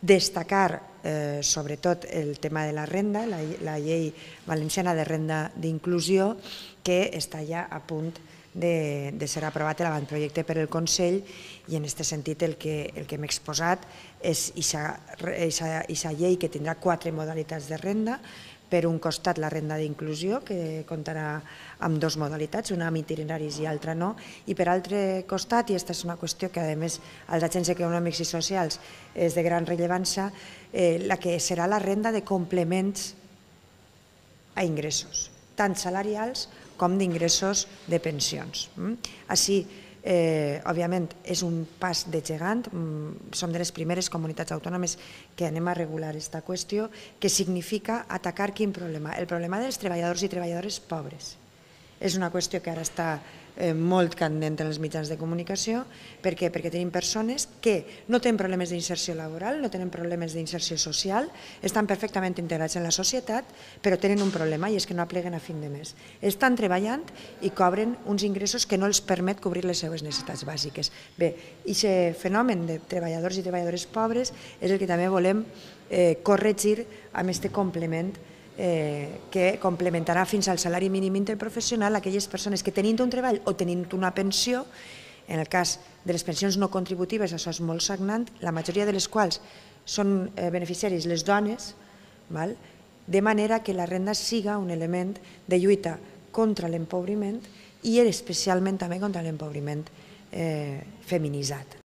Destacar sobretot el tema de la renda, la llei valenciana de renda d'inclusió, que està ja a punt de ser aprovat l'avantprojecte per el Consell, i en aquest sentit el que hem exposat és aquesta llei que tindrà 4 modalitats de renda. Per un costat, la renda d'inclusió, que comptarà amb 2 modalitats, una amb itineraris i altra no, i per altre costat, i aquesta és una qüestió que a més als agents econòmics i socials és de gran rellevància, la que serà la renda de complements a ingressos, tant salarials com d'ingressos de pensions. Així, òbviament, és un pas de gegant, som de les primeres comunitats autònomes que anem a regular aquesta qüestió, que significa atacar quin problema? El problema dels treballadors i treballadores pobres. És una qüestió que ara està molt candent en els mitjans de comunicació. Per què? Perquè tenim persones que no tenen problemes d'inserció laboral, no tenen problemes d'inserció social, estan perfectament integrats en la societat, però tenen un problema, i és que no apleguen a fin de mes. Estan treballant i cobren uns ingressos que no els permet cobrir les seves necessitats bàsiques. Bé, aquest fenomen de treballadors i treballadores pobres és el que també volem corregir amb aquest complement que complementarà fins al salari mínim interprofessional aquelles persones que tenint un treball o tenint una pensió, en el cas de les pensions no contributives això és molt sagnant, la majoria de les quals són beneficiaris les dones, de manera que la renda siga un element de lluita contra l'empobriment i especialment també contra l'empobriment feminitzat.